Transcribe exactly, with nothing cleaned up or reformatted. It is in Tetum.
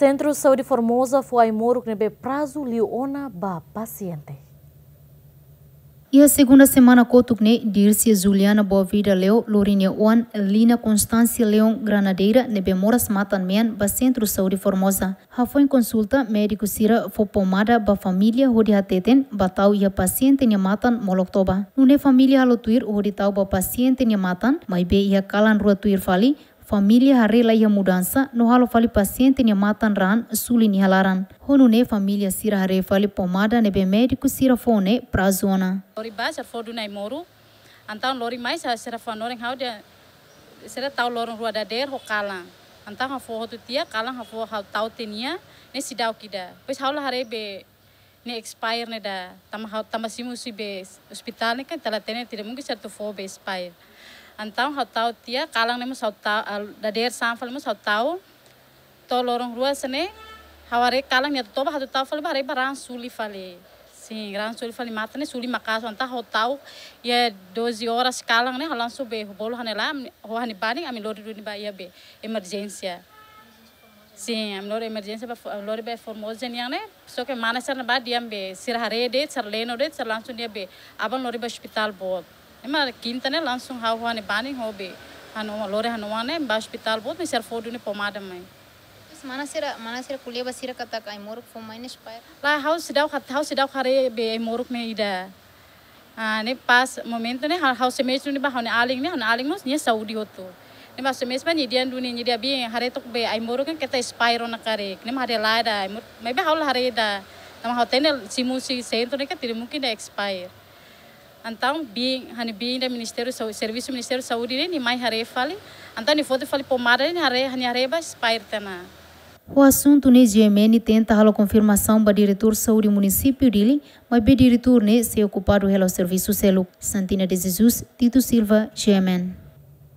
Sentru Saúde Formosa fó ai-moruk ne'ebé prazu liu ona ba pasiente. Iha segunda semana kotuk ne'e, Dircia Juliana Boavida Leo, lori nia oan Lina Constancia Leon Granadeira, ne'ebé moras matan-mean ba Sentru Saúde Formosa. Hafoin konsulta, médiku sira fó pomada ba família hodi hateten ba tau iha pasiente nia matan molok toba. Nune'e família halo tuir hodi tau ba pasiente nia matan, maibé iha kalan rua tuir fali, família haree la iha mudansa no halo fali pasiente nia matan raan suli nia laran. Ho nune'e família sira haree fali pomada ne'ebé médiku sira fó ne'e prazu ona. Lori ba, sira fó duni ai-moruk. Entaun lori mai, sira, sira fó hanorin ha'u dehan sira tau loron rua dadeer ho kalan. Entaun ha'u fó hotu tiha, kalan ha'u fó ha'u tau tiha nia, ne'e seidauk ida. Depois ha'u la haree be ne'e expire ne'e ida. Tanba ha'u, tanba simu husi be ospitál ne'e kan ita la hatene, tidak mungkin sira atu fó be expire. Entaun ha'u tau tiha, kalan ne'e mós ha'u tau, ah, dadeer-saan fali mós ha'u tau. To'o loron rua sira-ne'e, ha'u haree kalan nia toba, ha'u tau fali ba haree ba raan suli fali. Sin, raan suli fali, matan ne'e suli maka'as. Entaun ha'u tau, iha doze horas kalan ne'e, ha'u langsung be bolu ha'u-nia laran, ho ha'u-nia banin, ami lori duni ba iha be emerjénsia. Sin, ami lori emerjénsia ba fo-, lori ba Formosa nian ne'e, só ke mana sira-ne'e ba dehan be, sira haree de'it, sira leno de'it, sira langsung dehan be, aban lori ba ospitál boot. Ne'e mak kinta ne'e langsung ha'u ho ha'u-nia banin ho be, ha'u-nia oan, lori ha'u-nia oan ne'e ba ospitál boot, ne'e sira fó duni pomada mai. Terus mana sira, mana sira ko'alia ba sira katak ai-moruk fó mai ne'e expire? Lae, ha'u seidauk hat-, ha'u seidauk haree be ai-moruk ne'e ida. Ah, ne'e pas momentu ne'e, ha'u, ha'u sei mesak duni ba ha'u-nia alin ne'e, ha'u-nia alin mós nia saúde hotu. Ne'e mak sei mesak ba nia dehan duni, nia dehan: "Biin, haree took be ai-moruk kan keta expire ona karik." Ne'e mak haree lae ida ai-moruk, maibé ha'u la haree ida. Tanba ha'u hatene simu husi sentru ne'e kan tidak mungkin ida expire. Entaun biin, ha'u-nia biin ida Ministériu Saúde, servisu Ministériu Saúde ne'e, nia mai haree fali. Entaun nia foti fali pomada ne'e, nia haree, nia haree ba expire tiha ona. Ho asuntu ne'e, G M N tenta halo konfirmasaun ba Diretór Saúde Munisípiu Dili, maibé diretór ne'e sei okupadu hela ho servisu seluk. Santina de Jesus, Tito Silva, G M N.